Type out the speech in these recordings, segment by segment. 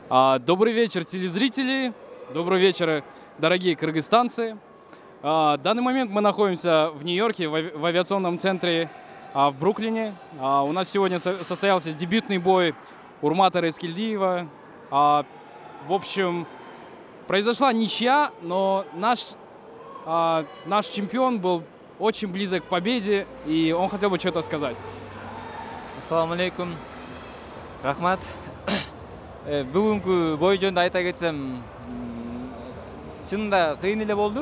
Добрый вечер, телезрители. Добрый вечер, дорогие кыргызстанцы. В данный момент мы находимся в Нью-Йорке, в авиационном центре в Бруклине. У нас сегодня состоялся дебютный бой Урмата Эскельдиева. В общем, произошла ничья, но наш чемпион был очень близок к победе, и он хотел бы что-то сказать. Ассаламу алейкум. Рахмат. Бүгүнкү бой жөнүндө айта кетсем, чынында кыйын эле болду.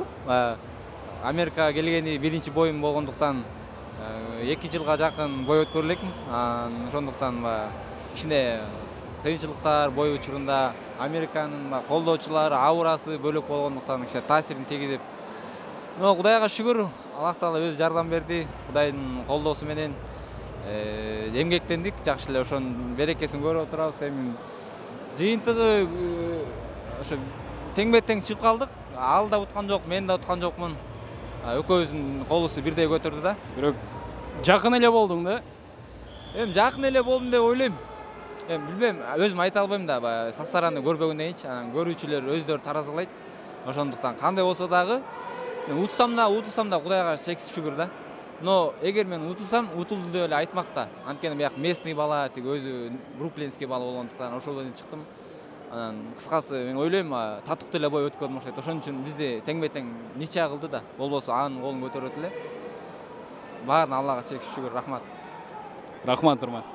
Америкага келгени биринчи боюм болгондуктан 2 жылга жакын бой өткөрүп элекмин. Ошондуктан кичине кыйынчылыктар бой учурунда Американын колдоочулары, аурасы бөлөк болгондуктан кичине таасирин тийгизип. Но Кудайга шүгүр, Аллах Таала өзү жардам берди. Кудайдын колдоосу менен эмгектендик, жакшы эле ошонун берекесин көрүп отурабыз. Эми жыйынтыгы ошо тең-тең чыгып калдык. Ал да уткан жок, мен да уткан жокмун. Экөөбүздүн колубузду бирдей көтөрдү да. Бирок жакын эле болдуң да? Эми жакын эле болдум деп ойлойм. Эми билбейм, өзүм айта албайм да, састараны көрбөгөндөн кийинчи, көрүүчүлөр өздөрү таразалайт. Ошондуктан кандай болсо дагы утсам да Кудайга чексиз шүгүр да. Но эгер мен утулсам, утулду деп эле айтмак да. Анткени бияк местный бала, тиги өзү бруклинский бала болгондуктан ошол менен чыктым. Анан кыскасы мен ойлойм, татыктуу эле бой өткөрдүм окшойт. Ошон үчүн бизди тең-тең ничья кылды да. Болбосо анын колун көтөрөт эле. Баарын Аллага чексиз шүгүр, рахмат. Рахмат, Урмат.